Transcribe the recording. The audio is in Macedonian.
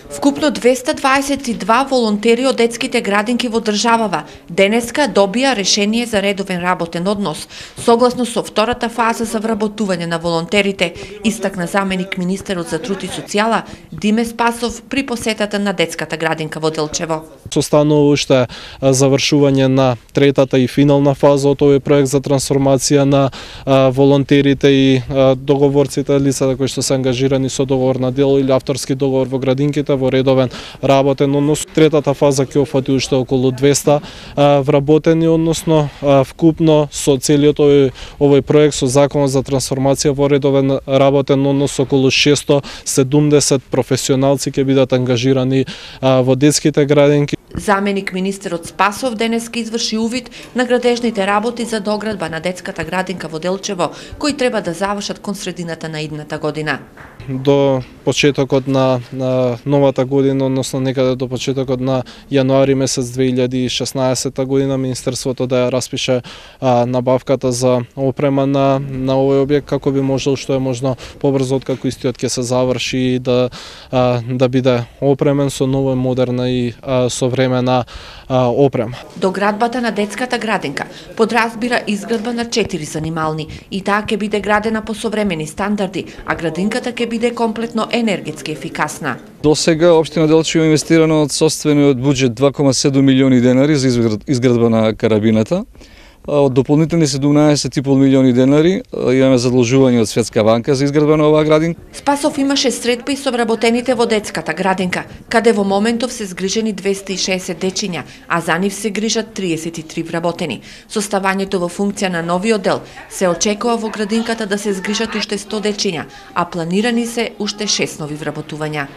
Вкупно 222 волонтери од детските градинки во државава денеска добија решение за редовен работен однос, согласно со втората фаза за вработување на волонтерите, истакна заменик министерот за труд и социјала Диме Спасов при посетата на детската градинка во Делчево. Состанува уште завршување на третата и финална фаза од овој проект за трансформација на волонтерите и договорците, лицата кои што се ангажирани со договор на дело или авторски договор во градинките во редовен работен однос. Третата фаза ќе опфати уште околу 200 вработени, односно вкупно со целиот овој проект со законот за трансформација во редовен работен однос околу 670 професионалци ќе бидат ангажирани во детските градинки. Заменик министерот Спасов денеска изврши увид на градежните работи за доградба на детската градинка во Делчево, кои треба да завршат кон средината на идната година. До почетокот на новата година, односно некаде до почетокот на јануари месец 2016 година, Министерството да ја распише набавката за опрема на овој објект, како би можел што е можно побрзо откако истиот ќе се заврши и да биде опремен со нова, модерна и современа опрема. Доградбата на детската градинка подразбира изградба на 4 занимални и таа ќе биде градена по современи стандарди, а градинката ќе биде комплетно енергетски ефикасна. До сега општина Делчево инвестирано од сопствениот буџет 2,7 милиони денари за изградба на карабината. Од дополнителни 17,5 милиони денари имаме задолжување од Светска банка за изградба на оваа градинка. Спасов имаше средби со вработените во детската градинка, каде во моментов се згрижени 260 дечиња, а за нив се грижат 33 вработени. Со ставањето во функција на новиот дел се очекува во градинката да се згрижат уште 100 дечиња, а планирани се уште 6 нови вработувања.